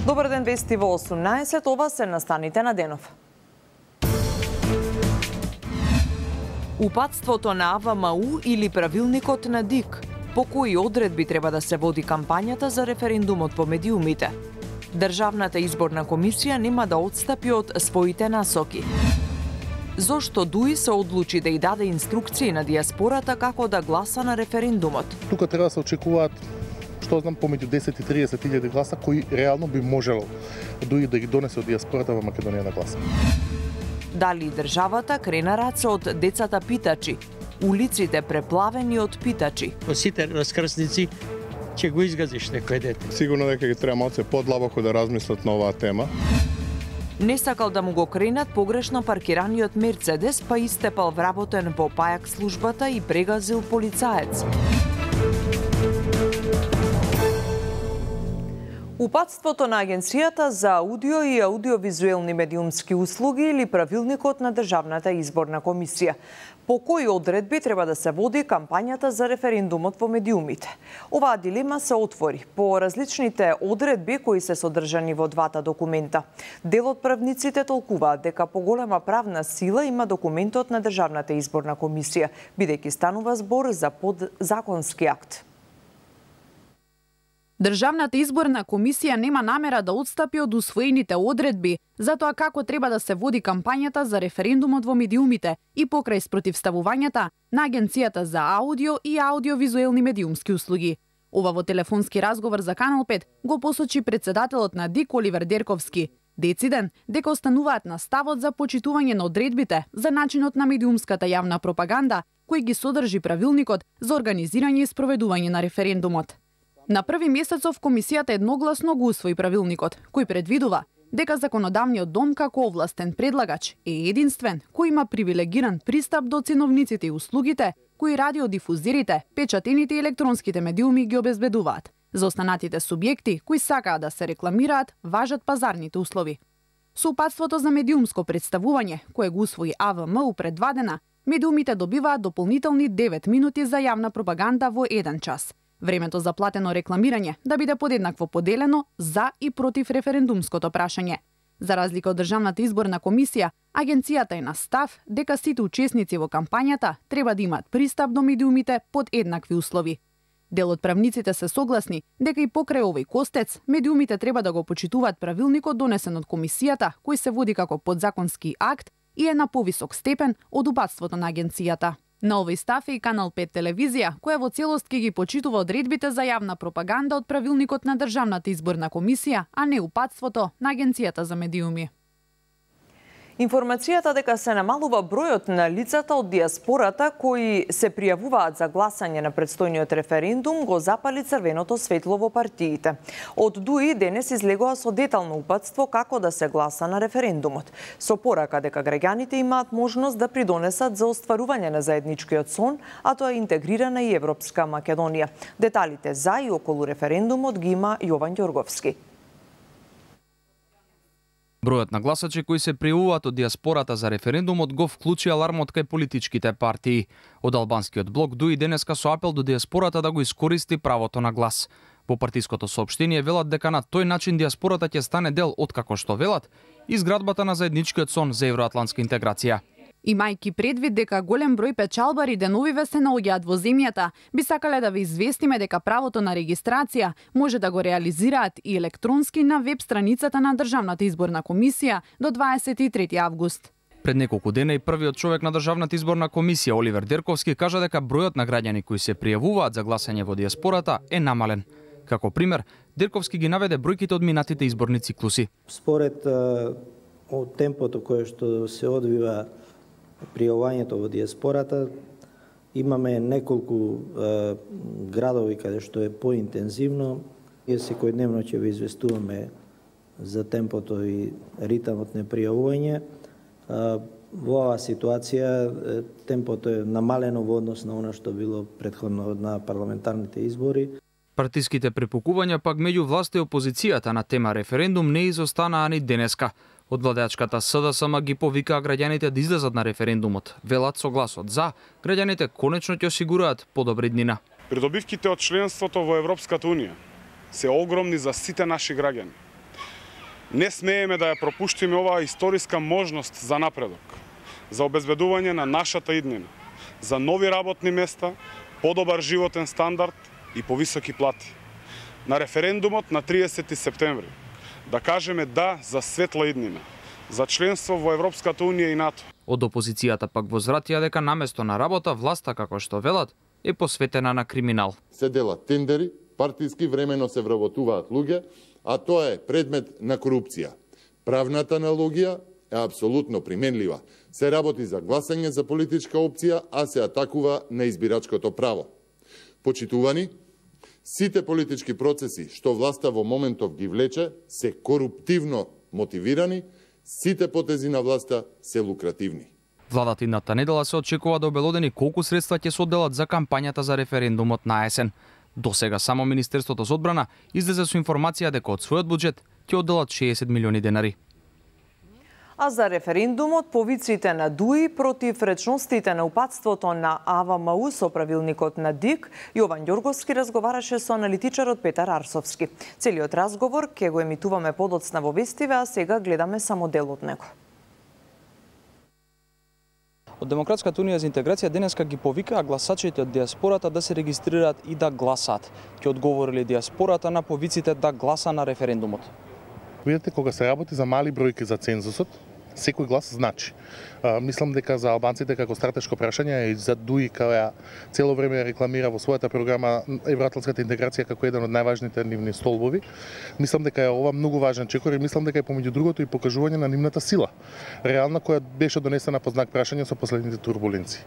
Добар ден, вести во 18, ова се настаните на денов. Упатството на АВМУ или правилникот на ДИК, по кои одредби треба да се води кампањата за референдумот по медиумите. Државната изборна комисија нема да отстапи од своите насоки. Зошто ДУИ се одлучи да ја даде инструкции на дијаспората како да гласа на референдумот? Тука треба да се очекуваат, што знам, помеѓу 10 и 30.000 гласа кои реално би можело ДУИ да ги донесе од дијаспората во Македонија на гласа. Дали државата крена раце од децата питачи, улиците преплавени од питачи? Сите раскрсници ќе го изгазиш некој дете. Сигурно дека ги треба малце подлабоко да размислат на оваа тема. Не сакал да му го кренат погрешно паркираниот Мерцедес, па истепал вработен по пајак службата и прегазил полицаец. Упатството на Агенцијата за аудио и аудиовизуелни медиумски услуги или правилникот на Државната изборна комисија. По кои одредби треба да се води кампањата за референдумот во медиумите? Оваа дилема се отвори по различните одредби кои се содржани во двата документа. Дел од правниците толкуваат дека поголема правна сила има документот на Државната изборна комисија, бидејќи станува збор за подзаконски акт. Државната изборна комисија нема намера да отстапи од усвоените одредби за тоа како треба да се води кампањата за референдумот во медиумите и покрај спротивставувањата на Агенцијата за аудио и аудиовизуелни медиумски услуги. Ова во телефонски разговор за Канал 5 го посочи председателот на ДИК Оливер Дерковски. Дециден дека остануваат на ставот за почитување на одредбите за начинот на медиумската јавна пропаганда кој ги содржи правилникот за организирање и спроведување на референдумот. На 1 месецов комисијата едногласно го усвои правилникот, кој предвидува дека законодавниот дом како овластен предлагач е единствен кој има привилегиран пристап до ценовниците и услугите кои радиодифузерите, печатените и електронските медиуми ги обезбедуваат. За останатите субјекти кои сакаат да се рекламираат, важат пазарните услови. Со упатството за медиумско представување, кое го усвои АВМУ пред 2 дена, медиумите добиваат дополнителни 9 минути за јавна пропаганда во 1 час. Времето за платено рекламирање да биде подеднакво поделено за и против референдумското прашање. За разлика од Државната изборна комисија, агенцијата е на став дека сите учесници во кампањата треба да имаат пристап до медиумите под еднакви услови. Дел од правниците се согласни дека и покрај овој костец, медиумите треба да го почитуваат правилникот донесен од комисијата, кој се води како подзаконски акт и е на повисок степен од упатството на агенцијата. На овој став е и Канал 5 телевизија, која во целост ќе ги почитува одредбите за јавна пропаганда од правилникот на Државната изборна комисија, а не упатството на Агенцијата за медиуми. Информацијата дека се намалува бројот на лицата од дијаспората кои се пријавуваат за гласање на предстојниот референдум го запали црвеното светло во партиите. Од ДУИ денес излегоа со детално упатство како да се гласа на референдумот, со порака дека граѓаните имаат можност да придонесат за остварување на заедничкиот сон, а тоа е интегрирана и Европска Македонија. Деталите за и околу референдумот ги има Јован Ѓорговски. Бројот на гласачи кои се пријавуваат од дијаспората за референдумот го вклучи алармот кај политичките партии. Од албанскиот блок ДУИ денеска со апел до дијаспората да го искористи правото на глас. По партиското соопштение велат дека на тој начин дијаспората ќе стане дел од, како што велат, изградбата на заедничкиот сон за евроатлантска интеграција. Имајќи предвид дека голем број печалбари деновиве се наоѓаат во земјата, би сакале да ве известиме дека правото на регистрација може да го реализираат и електронски на веб страницата на Државната изборна комисија до 23 август. Пред неколку дена и првиот човек на Државната изборна комисија Оливер Дерковски кажа дека бројот на граѓани кои се пријавуваат за гласање во дијаспората е намален. Како пример, Дерковски ги наведе бројките од минатите изборни циклуси. Според од темпото кое што се одвива пријавувањето во дијаспората, имаме неколку градови каде што е поинтензивно. Ние секојдневно ќе ве известуваме за темпото и ритмот на пријавување. Во оваа ситуација темпото е намалено во однос на она што било претходно на парламентарните избори. Партиските препукувања пак меѓу власта и опозицијата на тема референдум не изостанаа ни денеска. Од владеачката СДСМ ги повикаа граѓаните да излезат на референдумот. Велат со гласот за, граѓаните конечно ќе осигураат подобри днина. Придобивките од членството во Европската Унија се огромни за сите наши граѓани. Не смееме да ја пропуштиме оваа историска можност за напредок, за обезбедување на нашата иднина, за нови работни места, подобар животен стандард и повисоки плати. На референдумот на 30 септември да кажеме да за светла иднина, за членство во Европската Унија и НАТО. Од опозицијата пак возвратија дека наместо на работа власта, како што велат, е посветена на криминал. Се делат тендери, партиски времено се вработуваат луѓе, а тоа е предмет на корупција. Правната аналогија е апсолутно применлива. Се работи за гласање за политичка опција, а се атакува на избирачкото право. Почитувани, сите политички процеси што власта во моментов ги влече се коруптивно мотивирани, сите потези на власта се лукративни. Владата идната недела се очекува да обелодени колку средства ќе се одделат за кампањата за референдумот на есен. До сега само Министерството за одбрана излезе со информација дека од својот буџет ќе одделат 60 милиони денари. А за референдумот, повиците на ДУИ против речностите на упатството на АВМУ со правилникот на ДИК, Јован Ѓорговски разговараше со аналитичарот Петар Арсовски. Целиот разговор ќе го емитуваме подоцна во Вестиве, а сега гледаме само дел од него. Од Демократската унија за интеграција денеска ги повикаа гласачите од диаспората да се регистрираат и да гласат. Ќе одговорили диаспората на повиците да гласа на референдумот. Видете, кога се работи за мали бројки за цензусот, секој глас значи. Мислам дека за албанците како стратешко прашање и за ДУИ која цело време рекламира во својата програма евроатлантската интеграција како еден од најважните нивни столбови, мислам дека е ова многу важен чекор и мислам дека е помеѓу другото и покажување на нивната сила, реална која беше донесена по знак прашање со последните турбуленции.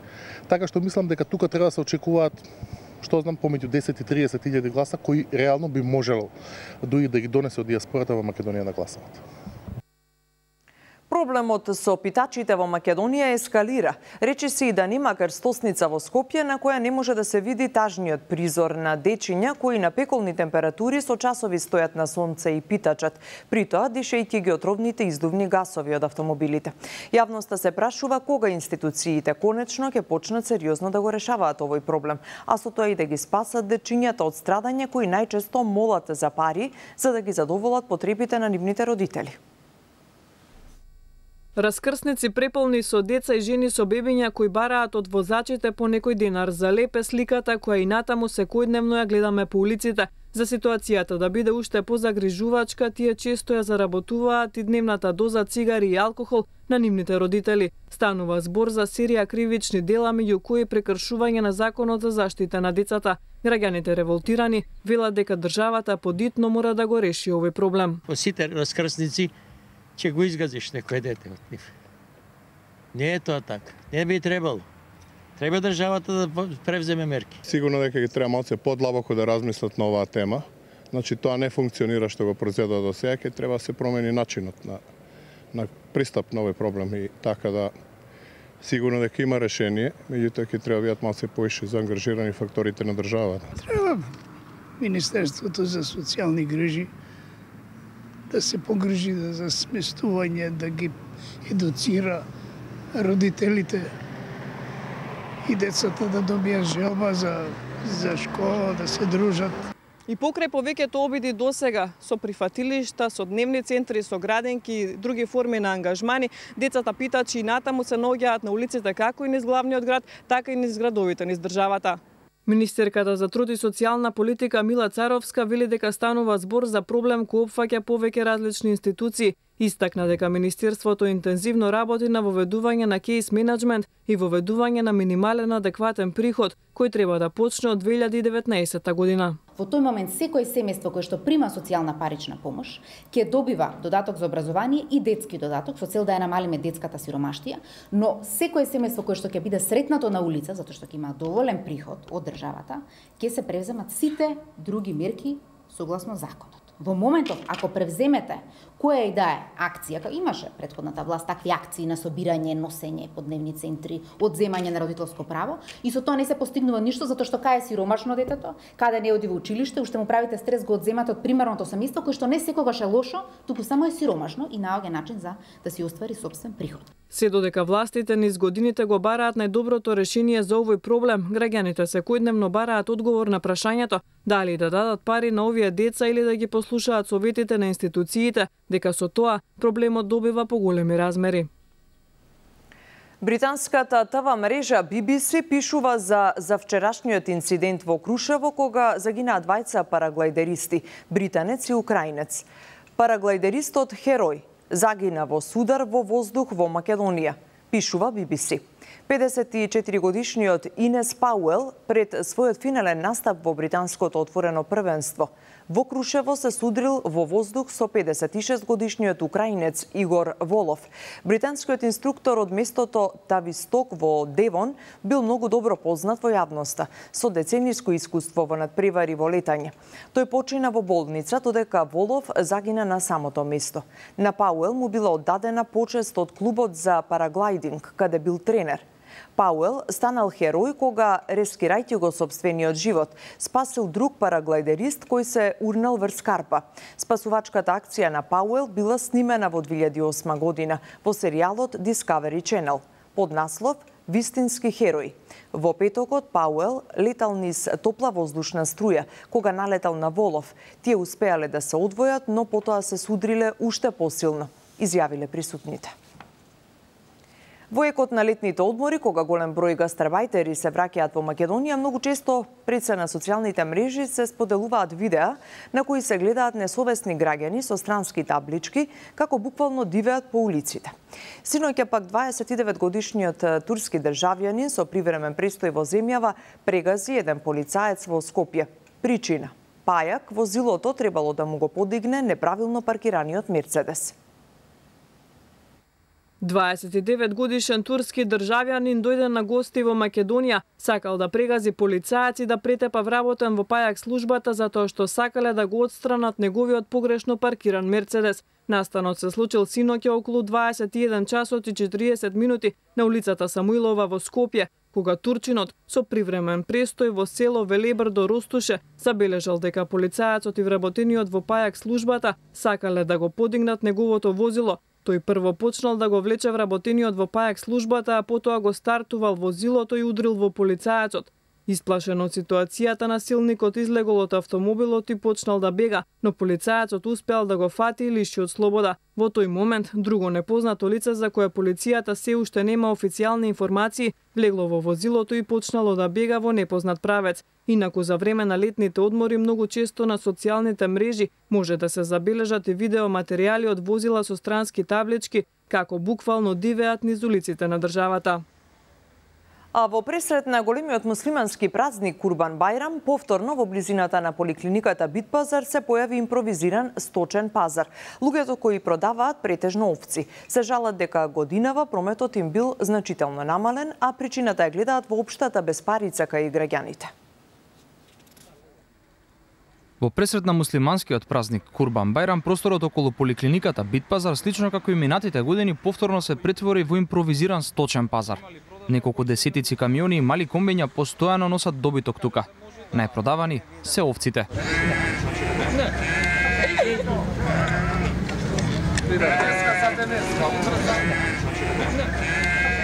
Така што мислам дека тука треба да се очекуваат што знам помеѓу 10 и 30 илјади гласа кои реално би можело ДУИ да ги донесе од диаспората во Македонија на гласаат. Проблемот со питачите во Македонија ескалира. Рече се и да нема крстосница во Скопје на која не може да се види тажниот призор на дечиња кои на пеколни температури со часови стојат на сонце и питачат, при тоа дишејќи ги отровните издувни гасови од автомобилите. Јавноста се прашува кога институциите конечно ќе почнат сериозно да го решаваат овој проблем, а со тоа и да ги спасат дечињата од страдање кои најчесто молат за пари за да ги задоволат потребите на нивните родители. Раскрсници преполни со деца и жени со бебиња кои бараат од возачите по некој денар. За лепе сликата која и натаму секојдневно ја гледаме по улиците. За ситуацијата да биде уште позагрижувачка, тие често ја заработуваат и дневната доза цигари и алкохол на нивните родители. Станува збор за серија кривични дела, меѓу кои прекршување на законот за заштита на децата. Граѓаните револтирани велат дека државата подитно мора да го реши овој проблем. По сите раскрсници ќе го изгазиш некој дете од нив. Не е тоа така. Не би требало. Треба државата да превземе мерки. Сигурно дека ги треба малце подлабоко да размислат на оваа тема. Значи тоа не функционира што го произведува до сега, ќе треба да се промени начинот на пристап на овој проблем и така да сигурно дека има решение, меѓутоа ќе треба бидат малце поише заангажирани факторите на државата. Треба Министерството за социјални грижи да се погрижи за сместување, да ги едуцира родителите и децата да добијат желба за школа, да се дружат. И покрај повеќето обиди досега со прифатилишта, со дневни центри, со градинки и други форми на ангажмани, децата питачи и натаму се наоѓаат на улиците како и низ главниот град, така и низ градовите низ државата. Министерката за труд и социјална политика Мила Царовска вели дека станува збор за проблем кој опфаќа повеќе различни институции. Истакна дека Министерството интензивно работи на воведување на кейс менеджмент и воведување на минимален адекватен приход, кој треба да почне од 2019 година. Во тој момент секој семејство кое што прима социјална парична помош ќе добива додаток за образование и детски додаток со цел да ја намалиме детската сиромаштија, но секој семејство кое што ќе биде сретнато на улица затоа што ќе има доволен приход од државата, ќе се превземат сите други мерки согласно законот. Во моментов, ако превземете која и да е акција, како имаше претходната власт такви акции на собирање, носење по дневни центри, одземање на родителско право, и со тоа не се постигнува ништо затоа што кај е сиромашно детето, каде не оди во училиште, уште му правите стрес, го одземате од примерното семејство кој што не секогаш е лошо, туку само е сиромашно и наоѓа начин за да си оствари сопствен приход. Се додека властите низ годините го бараат најдоброто решение за овој проблем, граѓаните секојдневно бараат одговор на прашањето дали да дадат пари на овие деца или да ги послушаат советите на институциите, дека со тоа проблемот добива поголеми размери. Британската ТВ мрежа BBC пишува за вчерашниот инцидент во Крушево кога загинаа двајца параглайдеристи, британец и украинец. Параглайдеристот Херој загина во судар во воздух во Македонија, пишува BBC. 54-годишниот Инес Пауел пред својот финален настап во британското отворено првенство во Крушево се судрил во воздух со 56-годишниот украинец Игор Волов. Британскиот инструктор од местото Тависток во Девон бил многу добро познат во јавноста, со децениско искуство во надпревари во летање. Тој почина во болница, додека Волов загина на самото место. На Пауел му била оддадена почест од клубот за параглайдинг, каде бил тренер. Пауел станал херој кога, рескирајќи го сопствениот живот, спасил друг параглайдерист кој се урнал врз Карпа. Спасувачката акција на Пауел била снимена во 2008 година во серијалот Discovery Channel под наслов Вистински херој. Во петокот Пауел летал низ топла воздушна струја кога налетал на Волов. Тие успеале да се одвојат, но потоа се судриле уште посилно, изјавиле присутните. Во екот на летните одмори, кога голем број гастарбајтери се враќаат во Македонија, многу често пред се на социјалните мрежи се споделуваат видеа на кои се гледаат несовесни граѓани со странски таблички, како буквално дивеат по улиците. Синоќа пак 29-годишниот турски државјанин со привремен престој во земјава прегази еден полицаец во Скопје. Причина: пајак возилото требало да му го подигне неправилно паркираниот Мерцедес. 29-годишен турски државјанин дојде на гости во Македонија, сакал да прегази полицаец и да претепа вработен во пајак службата затоа што сакале да го отстранат неговиот погрешно паркиран Мерцедес. Настанот се случил синоќа околу 21 часот и 40 минути на улицата Самуилова во Скопје, кога турчинот со привремен престој во село Велебр до Ростуше забележал дека полицаецот и вработениот во пајак службата сакале да го подигнат неговото возило. Тој прво почнал да го влече вработениот во пајак службата, а потоа го стартувал возилото и удрил во полицаецот. Исплашен од ситуацијата, насилникот излегол од автомобилот и почнал да бега, но полицаецот успеал да го фати и лиши од слобода. Во тој момент, друго непознато лице за кое полицијата се уште нема официјални информации, влегло во возилото и почнало да бега во непознат правец. Инаку за време на летните одмори многу често на социјалните мрежи може да се забележат и видеоматеријали од возила со странски таблички, како буквално дивеат низ улиците на државата. А во пресред на големиот муслимански празник Курбан Бајрам, повторно во близината на поликлиниката Битпазар се појави импровизиран сточен пазар. Луѓето кои продаваат претежно овци се жалат дека годинава прометот им бил значително намален, а причината ја гледаат во општата безпарица кај граѓаните. Во пресред на муслиманскиот празник Курбан Бајрам, просторот околу поликлиниката Битпазар, слично како и минатите години, повторно се претвори во импровизиран сточен пазар. Неколку десетици камиони и мали комбиња постојано носат добиток тука. Најпродавани се овците.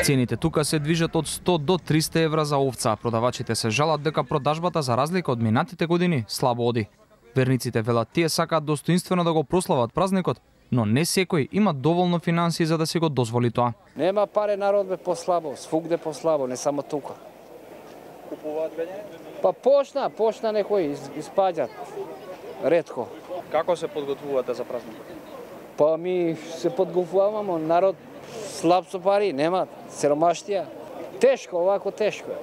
Цените тука се движат од 100 до 300 евра за овца, а продавачите се жалат дека продажбата за разлика од минатите години слабо оди. Верниците велат тие сакаат достоинствено да го прослават празникот, но не секој има доволно финансии за да си го дозволи тоа. Нема паре, народ бе послабо, свугде послабо, не само тука. Купуваат веќе? Па почна некои испаѓат. Ретко. Како се подготвувате за празникот? Па ми се подготвуваме, народ слаб со пари, нема, сиромаштија. Тешко, овако тешко е.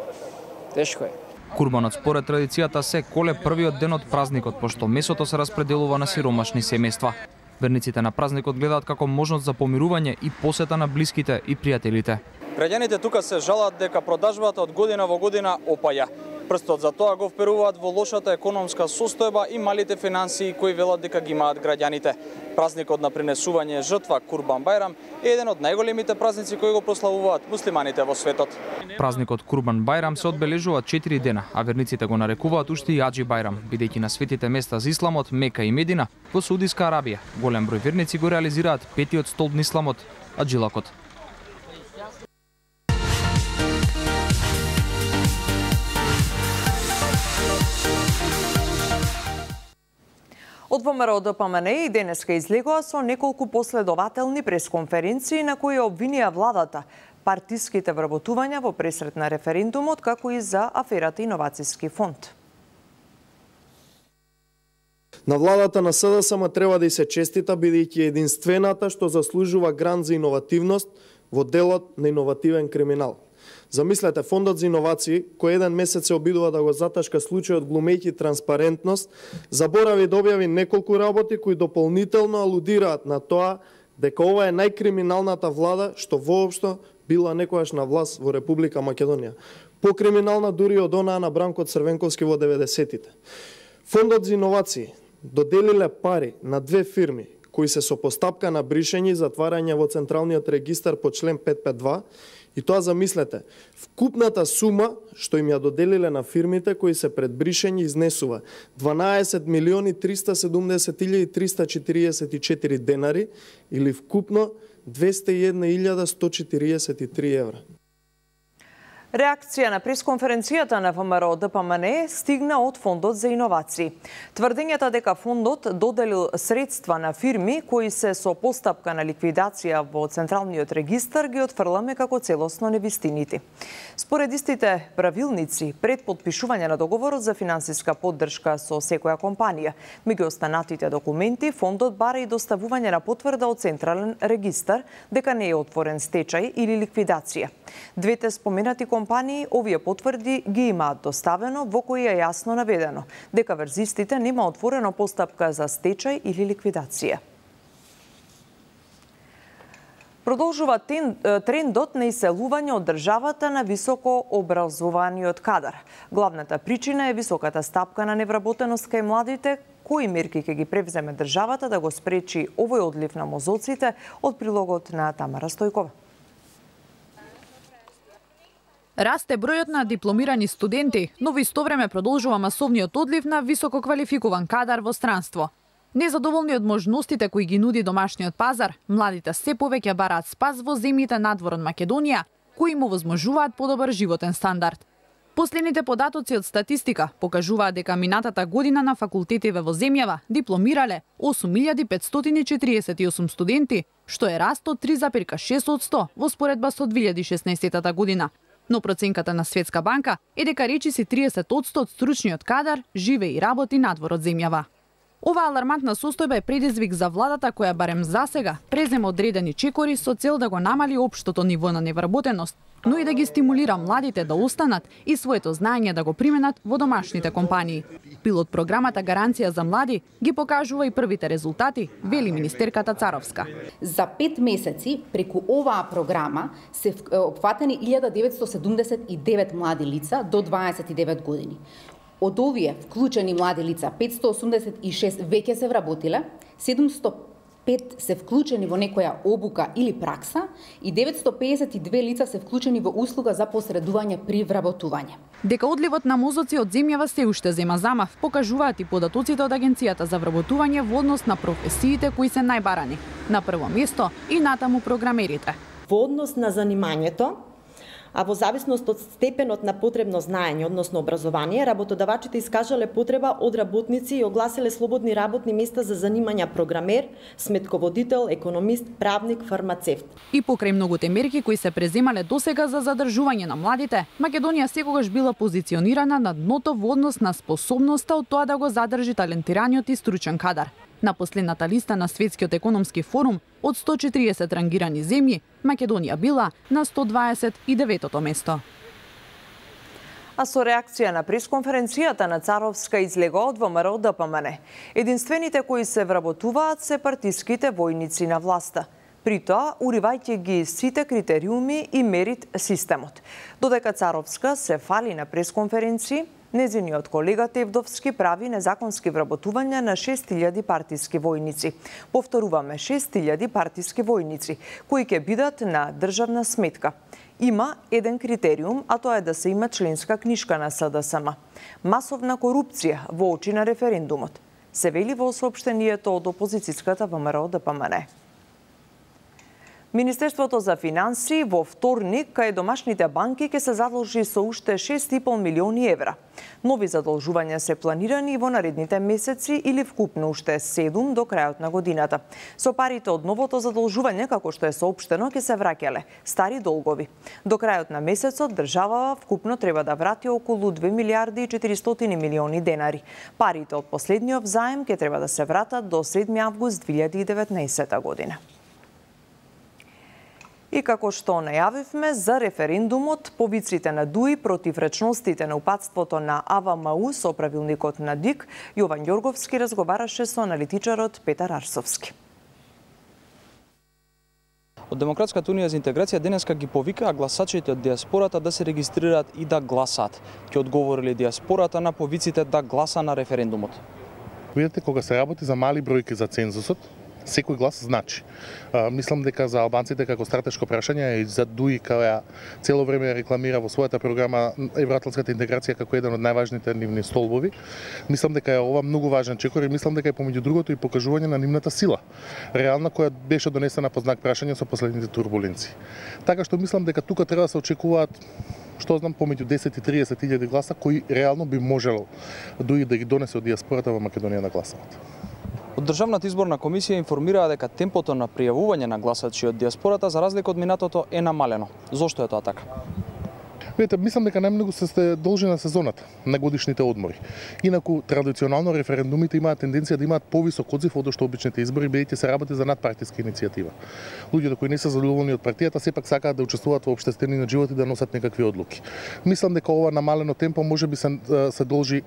Тешко е. Курбанот според традицијата се коле првиот ден од празникот, пошто месото се распределува на сиромашни семејства. Верниците на празникот гледаат како можност за помирување и посета на блиските и пријателите. Граѓаните тука се жалат дека продажбата од година во година опаја. Прстот за тоа го вперуваат во лошата економска состојба и малите финансии кои велат дека ги имаат граѓаните. Празникот на принесување жртва Курбан Бајрам е еден од најголемите празници кои го прославуваат муслиманите во светот. Празникот Курбан Бајрам се одбележува 4 дена, а верниците го нарекуваат уште и Аџи Бајрам, бидејќи на светите места за исламот Мека и Медина во Саудиска Арабија. Голем број верници го реализираат петиот столб на исламот, Аджилакот. Од ВМРО ДПМН и денеска излегоа со неколку последователни пресконференции на кои обвинија владата, партиските вработувања во пресрет на референдумот, како и за аферата Иновацијски фонд. На владата на СДСМ треба да и се честита, бидејќи единствената што заслужува грант за иновативност во делот на иновативен криминал. Замислете, Фондот за иновации, кој еден месец се обидува да го заташка случајот глумејќи транспарентност, заборави да објави неколку работи кои дополнително алудираат на тоа дека ова е најкриминалната влада што воопшто била некојаш на власт во Република Македонија. Покриминална дури од онаа на Бранко Црвенковски во 90-тите. Фондот за иновации доделиле пари на две фирми кои се со постапка на бришење и затварање во Централниот регистар по член 552, и тоа замислете, вкупната сума што им ја доделиле на фирмите кои се пред бришење изнесува 12.370.344 денари или вкупно 201.143 евра. Реакција на пресконференцијата на ВМРО ДПМН стигна од Фондот за иновации. Тврдењата дека фондот доделил средства на фирми кои се со постапка на ликвидација во Централниот регистар ги отфрламе како целосно невистинити. Според истите правилници, пред подпишување на договорот за финансиска поддршка со секоја компанија, меѓу останатите документи, фондот бара и доставување на потврда од Централен регистар дека не е отворен стечај или ликвидација. Двете споменати компании овие потврди ги имаат доставено, во кои е јасно наведено дека врз истите нема отворено постапка за стечај или ликвидација. Продолжува трендот на иселување од државата на високо образованиот кадар. Главната причина е високата стапка на невработеност кај младите. Кои мерки ќе ги превземе државата да го спречи овој одлив на мозоците? Од прилогот на Тамара Стојкова. Расте бројот на дипломирани студенти, но во исто време продолжува масовниот одлив на високо квалификуван кадар во странство. Незадоволни од можностите кои ги нуди домашниот пазар, младите се повеќе бараат спас во земјите надвор од Македонија, кои им овозможуваат подобар животен стандард. Последните податоци од статистика покажуваат дека минатата година на факултетиве во земјава дипломирале 8548 студенти, што е раст од 3,6% во споредба со 2016 година. Но проценката на Светска банка е дека речиси 30% од стручниот кадар живе и работи надвор од земјава. Оваа алармантна состојба е предизвик за владата која барем засега презема одредени чекори со цел да го намали општото ниво на невработеност, но и да ги стимулира младите да останат и своето знаење да го применат во домашните компании. Пилот програмата Гаранција за млади ги покажува и првите резултати, вели министерката Царовска. За 5 месеци преку оваа програма се опфатени 1979 млади лица до 29 години. Од овие вклучени млади лица 586 веќе се вработиле, 705 се вклучени во некоја обука или пракса и 952 лица се вклучени во услуга за посредување при вработување. Дека одливот на мозоци од земјава се уште зема замав, покажуваат и податоците од Агенцијата за вработување во однос на професиите кои се најбарани. На прво место и натаму програмерите. Во однос на занимањето, а во зависност од степенот на потребно знаење, односно образование, работодавачите искажале потреба од работници и огласиле слободни работни места за занимања програмер, сметководител, економист, правник, фармацевт. И покрај многуте мерки кои се преземале досега за задржување на младите, Македонија секогаш била позиционирана на дното во однос на способноста од тоа да го задржи талентираниот и стручен кадар. На последната листа на Светскиот економски форум од 140 рангирани земји, Македонија била на 129-то место. А со реакција на пресконференцијата на Царовска излега од ВМРО ДПМН. Единствените кои се вработуваат се партиските војници на власта. При тоа, уривајќи ги сите критериуми и мерит системот. Додека Царовска се фали на пресконференции, незиниот колега Тевдовски прави незаконски вработувања на 6000 партиски војници. Повторуваме, 6000 партиски војници, кои ќе бидат на државна сметка. Има еден критериум, а тоа е да се има членска книшка на СДСМ. Масовна корупција во очи на референдумот. Се вели во соопштението од опозицијската ВМРО ДПМН. Министерството за финансии во вторник кај домашните банки ќе се задолжи со уште 6,5 милиони евра. Нови задолжувања се планирани во наредните месеци или вкупно уште 7 до крајот на годината. Со парите од новото задолжување, како што е соопштено, ќе се враќале стари долгови. До крајот на месецот државава вкупно треба да врати околу 2 милиарди и 400 милиони денари. Парите од последниот заем ќе треба да се вратат до 7 август 2019 година. И како што најавивме за референдумот, повиците на ДУИ против речностите на упатството на АВМУ со правилникот на ДИК, Јован Ѓорговски разговараше со аналитичарот Петар Арсовски. Од Демократската унија за интеграција денеска ги повикаа гласачите од диаспората да се регистрираат и да гласаат. Ќе одговорили диаспората на повиците да гласа на референдумот. Видете, кога се работи за мали бројки за цензусот, секој глас значи. Мислам дека за албанците како стратешко прашање и за ДУИ која цело време рекламира во својата програма евроатлантската интеграција како еден од најважните нивни столбови, мислам дека е ова многу важен чекор и мислам дека е помеѓу другото и покажување на нивната сила, реална која беше донесена по знак прашање со последните турбуленции. Така што мислам дека тука треба да се очекуваат што знам помеѓу 10 и 30 илјади гласа кои реално би можело ДУИ да ги донесе од диаспората во Македонија да гласаат. Од Државната изборна комисија информираа дека темпото на пријавување на гласачи од диаспората за разлика од минатото е намалено. Зошто е тоа така? Видете, мислам дека најмногу се должи на сезоната, на годишните одмори. Инаку традиционално референдумите имаат тенденција да имаат повисок одзив од што обичните избори, бидејќи се работи за надпартиска иницијатива. Луѓето кои не се задоволни од партијата сепак сакаат да учествуваат во општествениот живот и да носат некакви одлуки. Мислам дека ова намалено темпо можеби се должи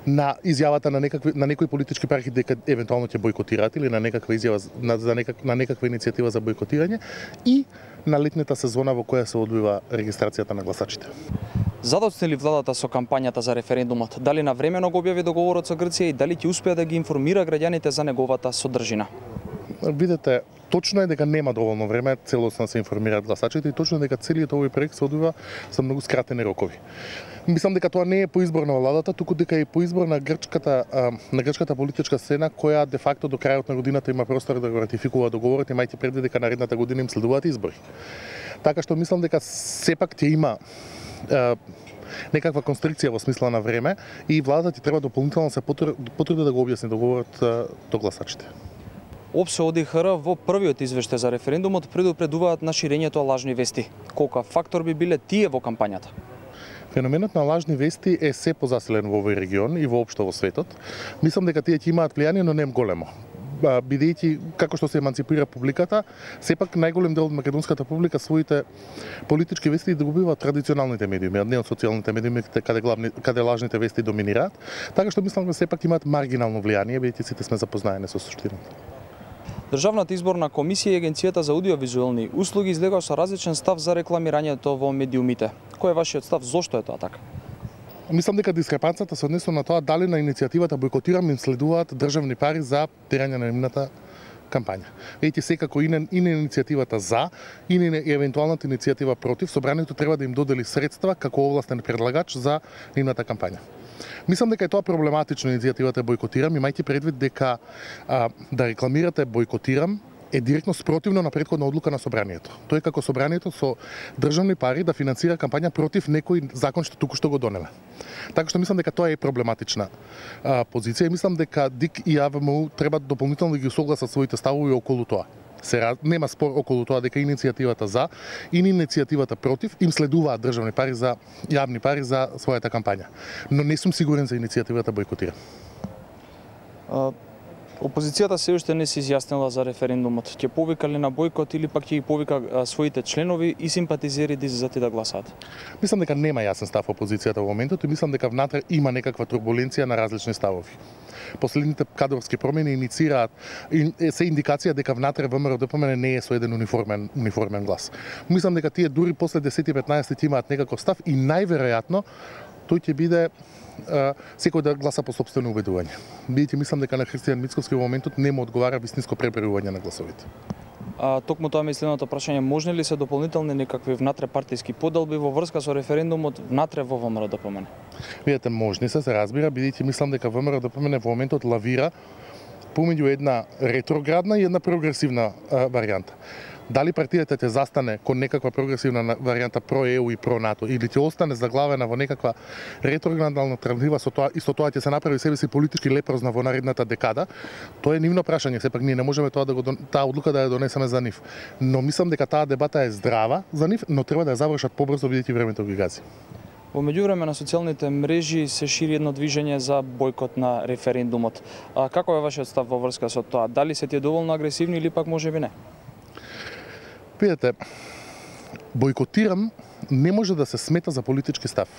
на изјавата на некои политички партии дека евентуално ќе бојкотираат или на некаква изјава на некаква иницијатива за бојкотирање и на летната сезона во која се одвива регистрацијата на гласачите. Задоцна ли владата со кампањата за референдумот? Дали навремено го објави договорот со Грција и дали ќе успее да ги информира граѓаните за неговата содржина? Видете, точно е дека нема доволно време целосно да се информираат гласачите и точно е дека целиот овој проект се одвива со многу скратени рокови. Мислам дека тоа не е по избор на владата, туку дека е по избор на грчката политичка сцена која де факто до крајот на годината има простор да го ратификува договорот, имајќи предвид дека наредната година им следуваат избори. Така што мислам дека сепак ќе има некаква констрикција во смисла на време и владата ти треба дополнително се потруди да го објасни договорот до гласачите. ОПСЕ ОДИХР во првиот извештај за референдумот предупредуваат на ширењето лажни вести. Колку фактор би биле тие во кампањата? Феноменот на лажни вести е се позаселен во овој регион и воопшто во светот. Мислам дека тие ќе имаат влијание, но не големо. Бидејќи како што се еманципира публиката, сепак најголем дел од македонската публика своите политички вести добиваат традиционалните медиуми, а не од социјалните медиуми каде лажните вести доминираат. Така што мислам дека сепак имаат маргинално влијание, бидејќи сите сме запознаени со суштината. Државната изборна комисија и Агенцијата за аудиовизуелни услуги излегоа со различен став за рекламирањето во медиумите. Кој е вашиот став? Зошто е тоа така? Мислам дека дискрепанцата се однесува на тоа дали на иницијативата Бојкотирам им следуваат државни пари за терање на нивната кампања. Видите, секако и на иницијативата за, и на евентуалната иницијатива против, собранието треба да им додели средства како овластен предлагач за нивната кампања. Мислам дека е тоа проблематично иницијативата Бојкотирам, имајќи предвид дека да рекламирате Бојкотирам е директно спротивно на претходна одлука на собранието. Тој како собранието со државни пари да финансира кампања против некој закон што туку-што го донеме. Така што мислам дека тоа е проблематична позиција и мислам дека ДИК и АВМУ треба дополнително да ги усогласат своите ставови околу тоа. Нема спор околу тоа дека иницијативата за и иницијативата против им следуваат државни пари за јавни пари за својата кампања. Но не сум сигурен за иницијативата Бојкотира. Опозицијата се уште не се изјаснила за референдумот. Ќе повика ли на бојкот или пак ќе ги повика своите членови и симпатизери да излезат и да гласаат? Мислам дека нема јасен став опозицијата во моментот и мислам дека внатре има некаква турбуленција на различни ставови. Последните кадровски промени иницираат се индикација дека внатре ВМРО-ДПМН не е со еден униформен глас. Мислам дека тие дури после 10-15 имаат некаков став и најверојатно тој ќе биде секој да гласа по сопствено убедување. Бидејќи мислам дека на Христијан Мицковски во моментот не му одговара вистинско пребројување на гласовите. Токму тоа ми е следното прашање, можни ли се дополнителни некакви внатре партиски поделби во врска со референдумот внатре во ВМРО-ДПМН? Видете, можни се разбира, бидејќи мислам дека ВМРО-ДПМН во моментот лавира помеѓу една ретроградна и една прогресивна варијанта. Дали партијата ќе застане кон некаква прогресивна варијанта про ЕУ и про НАТО или ќе остане заглавена во некаква ретроградна алтернатива, со тоа исто тоа ќе се направи себе си политички лепрозна во наредната декада, тоа е нивно прашање, сепак ние не можеме таа одлука да ја донесеме за нив. Но мислам дека таа дебата е здрава за нив, но треба да ја завршат побрзо бидејќи времето ги гази. Во меѓувреме на социјалните мрежи се шири едно движење за бојкот на референдумот. Како е вашиот став во врска со тоа? Дали се тие доволно агресивни или пак можеби не? Видете, бојкотирам не може да се смета за политички став.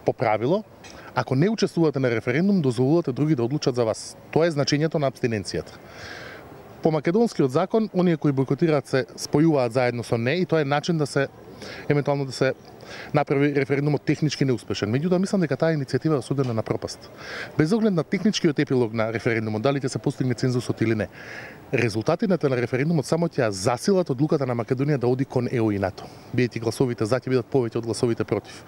По правило, ако не учествувате на референдум, дозволувате други да одлучат за вас. Тоа е значењето на абстиненцијата. По македонскиот закон, оние кои бојкотираат се спојуваат заедно со не и тоа е начин да се евентуално да се направи референдумот технички неуспешен. Меѓутоа, мислам дека таа иницијатива е осудена на пропаст. Без оглед на техничкиот епилог на референдумот, дали ќе се постигне цензусот или не, резултатите на референдумот само ќе засилат одлуката на Македонија да оди кон ЕУ и НАТО. Бидејќи гласовите за ќе бидат повеќе од гласовите против.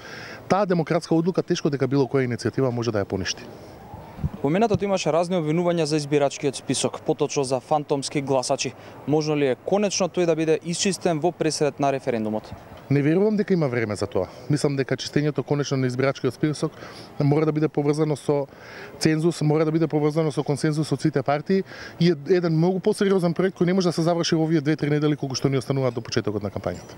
Таа демократска одлука тешко дека било која иницијатива може да ја поништи. Поминатото имаше разни обвинувања за избирачкиот список, поточно за фантомски гласачи. Можно ли е конечно тој да биде исчистен во пресред на референдумот? Не верувам дека има време за тоа. Мислам дека чистењето конечно на избирачкиот список мора да биде поврзано со цензус, мора да биде поврзано со консензус од сите партии и е еден многу посериозен проект кој не може да се заврши во овие 2-3 недели колку што ни остануваат до почетокот на кампањата.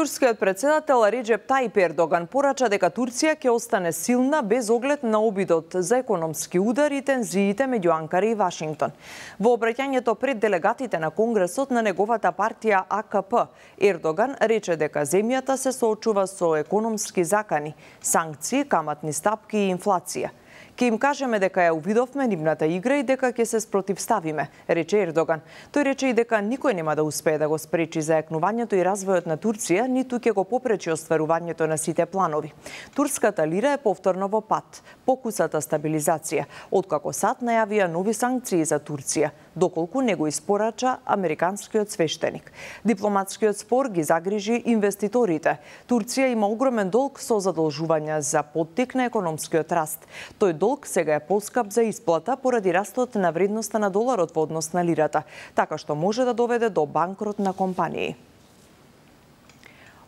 Турскиот председател Реджеп Тајип Ердоган порача дека Турција ќе остане силна без оглед на обидот за економски удар и тензиите меѓу Анкара и Вашингтон. Во обраќањето пред делегатите на Конгресот на неговата партија АКП, Ердоган рече дека земјата се соочува со економски закани, санкции, каматни стапки и инфлација. Ке им кажеме дека ја увидовме нивната игра и дека ќе се спротивставиме, рече Ердоган. Тој рече и дека никој нема да успее да го спречи зајакнувањето и развојот на Турција, ниту ќе го попречи остварувањето на сите планови. Турската лира е повторно во пат, покусата стабилизација, откако САД најавија нови санкции за Турција, доколку не го испорача американскиот свештеник. Дипломатскиот спор ги загрижи инвеститорите. Турција има огромен долг со задолжувања за поттик на економскиот раст. Тој долг сега е поскап за исплата поради растот на вредноста на доларот во однос на лирата, така што може да доведе до банкрот на компании.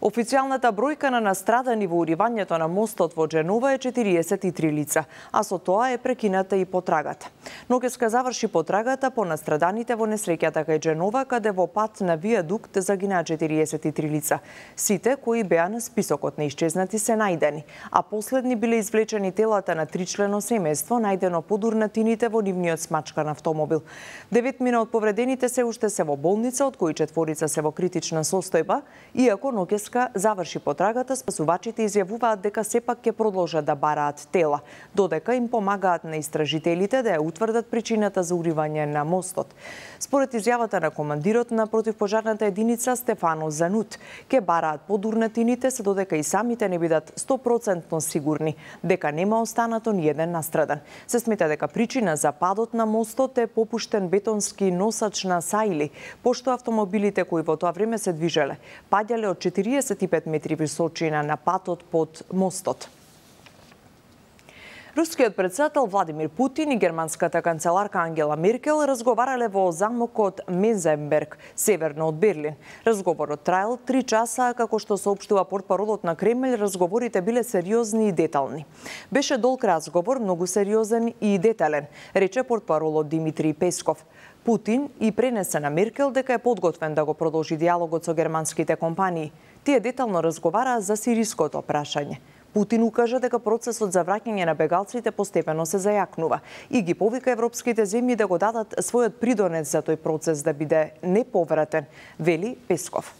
Официјалната бројка на настрадани во уривањето на мостот во Дженова е 43 лица, а со тоа е прекината и потрагата. Ноќеска заврши потрагата по настраданите во несреќата кај Дженова, каде во пат на виадукт загинаа 43 лица. Сите кои беа на списокот на исчезнати се најдени, а последни биле извлечени телата на тричлено семејство најдено под урнатините во нивниот смачкан автомобил. 9 од повредените се уште се во болница, од кои 4 се во критична состојба, иако ноќеска заврши потрагата, спасувачите изјавуваат дека сепак ќе продолжат да бараат тела, додека им помагаат на истражителите да ја утврдат причината за уривање на мостот. Според изјавата на командирот на противпожарната единица Стефано Занут, ќе бараат под урнатините се додека и самите не бидат 100% сигурни дека нема останато ни еден настрадан. Се смета дека причина за падот на мостот е попуштен бетонски носач на сајли, пошто автомобилите кои во тоа време се движеле паѓале од 45 метри височина на патот под мостот. Рускиот председател Владимир Путин и германската канцеларка Ангела Меркел разговарале во замокот Мензенберг, северно од Берлин. Разговорот траел 3 часа, како што соопштува портпаролот на Кремљ, разговорите биле сериозни и детални. Беше долг разговор, многу сериозен и детален, рече портпаролот Димитри Песков. Путин и пренесе на Меркел дека е подготвен да го продолжи диалогот со германските компании. Тие детално разговараа за сириското прашање. Путин укажа дека процесот за враќање на бегалците постепено се зајакнува и ги повика европските земји да го дадат својот придонес за тој процес да биде неповратен, вели Песков.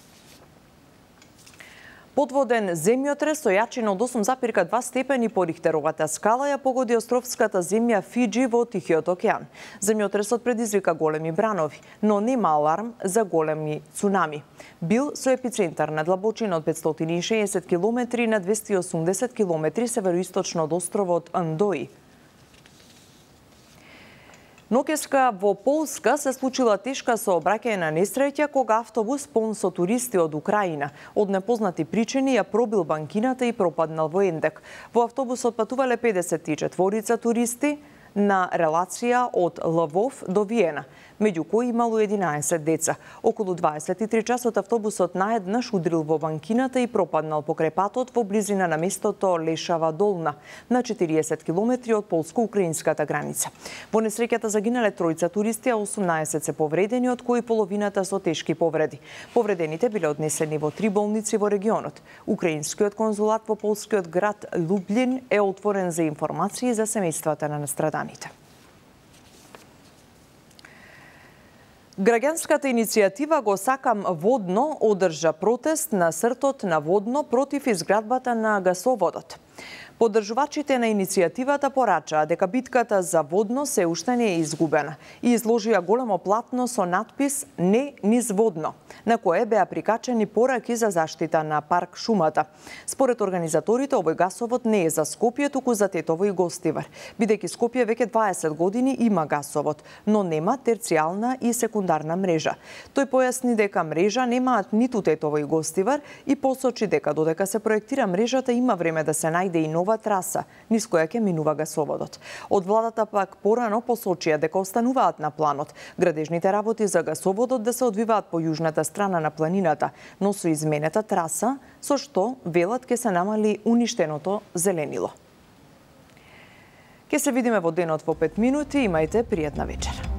Подводен земјотрес со јачина од 8,2 степени по Рихтеровата скала ја погоди островската земја Фиџи во Тихиот океан. Земјотресот предизвика големи бранови, но нема аларм за големи цунами. Бил со епицентар на длабочина од 560 км на 280 км североисточно од островот Андои. Ноќеска во Полска се случила тешка сообраќајна несреќа кога автобус полн со туристи од Украина од непознати причини ја пробил банкината и пропаднал во ендек. Во автобусот патувале 54 туристи, на релација од Лвов до Виена, меѓу кои имало 11 деца. Околу 23 часот автобусот наеднаш удрил во банкината и пропаднал покрај патот во близина на местото Лешава Долна, на 40 километри од полско-украинската граница. Во несреќата загинале тројца туристи, а 18 се повредени, од кои половината со тешки повреди. Повредените биле однесени во 3 болници во регионот. Украинскиот конзулат во полскиот град Лублин е отворен за информации за семејствата на настраданите. Граѓанската иницијатива Го сакам водно одржа протест на сртот на Водно против изградбата на гасоводот. Поддржувачите на иницијативата порачаа дека битката за Водно се уште не е изгубена и изложија големо платно со надпис "Не низ Водно", на кое беа прикачени пораки за заштита на парк шумата. Според организаторите, овој гасовод не е за Скопје, туку за Тетово и Гостивар, бидејќи Скопје веќе 20 години има гасовод, но нема терцијална и секундарна мрежа. Тој појасни дека мрежа немаат ниту Тетово и Гостивар и посочи дека додека се проектира мрежата има време да се најде и нова траса низ која ќе минува гасоводот. Од владата пак порано посочија дека остануваат на планот градежните работи за гасоводот да се одвиваат по јужната страна на планината, но со изменета траса, со што велат ќе се намали уништеното зеленило. Ќе се видиме во денот во 5 минути, имајте пријатна вечер.